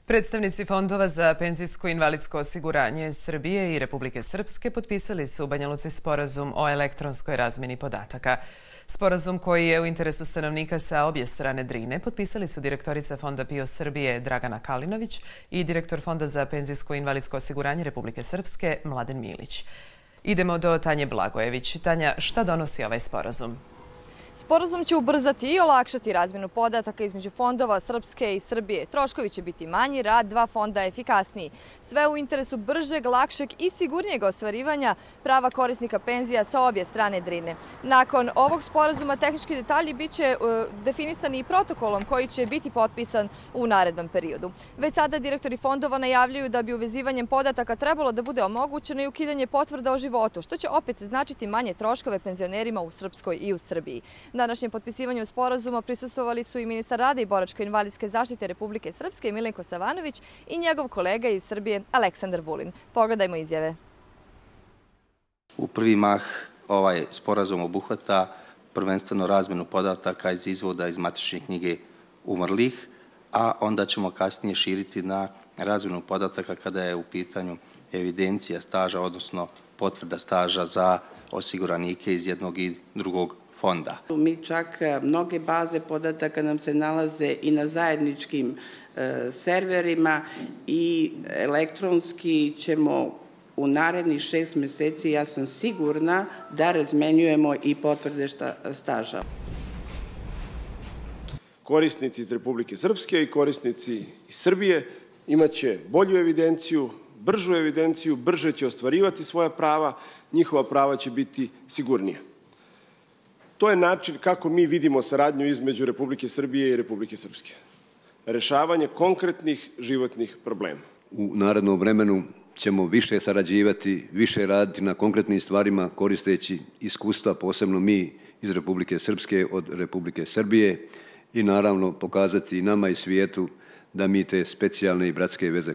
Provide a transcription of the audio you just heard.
Predstavnici fondova za penzijsko i invalidsko osiguranje Srbije i Republike Srpske potpisali su u Banja Luci sporazum o elektronskoj razmjeni podataka. Sporazum koji je u interesu stanovnika sa obje strane Drine potpisali su direktorica Fonda PIO Srbije Dragana Kalinović i direktor Fonda za penzijsko i invalidsko osiguranje Republike Srpske Mladen Milić. Idemo do Tanje Blagojević. Tanja, šta donosi ovaj sporazum? Sporazum će ubrzati i olakšati razmjenu podataka između fondova Srpske i Srbije. Troškovi će biti manji, rad dva fonda efikasniji. Sve u interesu bržeg, lakšeg i sigurnijeg ostvarivanja prava korisnika penzija sa obje strane Drine. Nakon ovog sporazuma tehnički detalji biće definisani i protokolom koji će biti potpisan u narednom periodu. Već sada direktori fondova najavljuju da bi uvezivanjem podataka trebalo da bude omogućeno i ukidanje potvrda o životu, što će opet značiti manje troškove penzionerima u Srpskoj i u Srbiji. Današnjem potpisivanju sporazuma prisustvovali su i ministar rada i boračko-invalidske zaštite Republike Srpske Milenko Savanović i njegov kolega iz Srbije Aleksandar Vulin. Pogledajmo izjave. U prvi mah ovaj sporazum obuhvata prvenstveno razmjenu podataka iz izvoda iz matične knjige umrlih, a onda ćemo kasnije širiti na razmjenu podataka kada je u pitanju evidencija staža, odnosno potvrda staža za osiguranike iz jednog i drugog fonda. Mi čak mnoge baze podataka nam se nalaze i na zajedničkim serverima i elektronski ćemo u narednih 6 mjeseci, ja sam sigurna, da razmenjujemo i potvrde staža. Korisnici iz Republike Srpske i korisnici iz Srbije imaće bolju evidenciju, bržu evidenciju, brže će ostvarivati svoja prava, njihova prava će biti sigurnija. To je način kako mi vidimo saradnju između Republike Srbije i Republike Srpske. Rešavanje konkretnih životnih problema. U narednom vremenu ćemo više sarađivati, više raditi na konkretnim stvarima koristeći iskustva, posebno mi iz Republike Srpske od Republike Srbije i naravno pokazati nama i svijetu da mi te specijalne i bratske veze